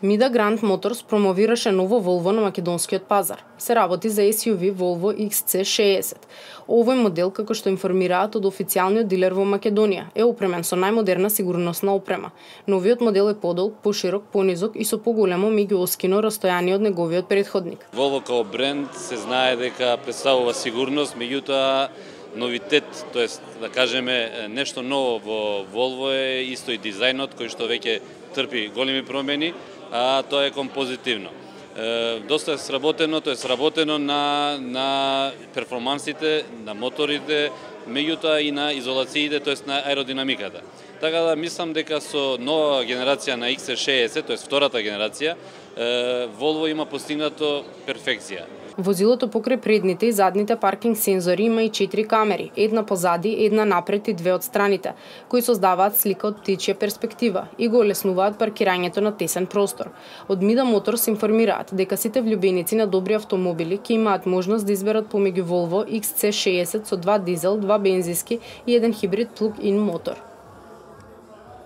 Mida Grand Motors промовираше ново Volvo на македонскиот пазар. Се работи за SUV Volvo XC60. Овој модел, како што информираат од официјалниот дилер во Македонија, е опремен со најмодерна сигурносна опрема. Новиот модел е подолг, поширок, понизок и со поголемо меѓуоскино растојание од неговиот претходник. Volvo као бренд се знае дека представува сигурност, меѓутоа новитет, тоест да кажеме нешто ново во Volvo е исто и дизајнот кој што веќе трпи големи промени, а тоа е композитивно. Доста е сработено на перформансите, на моторите, меѓутоа и на изолациите, тоест на аеродинамиката. Така да мислам дека со нова генерација на XC60, тоест втората генерација, Volvo има постигнато перфекција. Возилото покрај предните и задните паркинг сензори има и 4 камери, една позади, една напред и 2 од страните, кои создаваат слика од птичја перспектива и го олеснуваат паркирањето на тесен простор. Од Mida Motors информираат дека сите влюбеници на добри автомобили ќе имаат можност да изберат помеѓу Volvo XC60 со 2 дизел, 2 бензински и 1 хибрид плуг-ин мотор.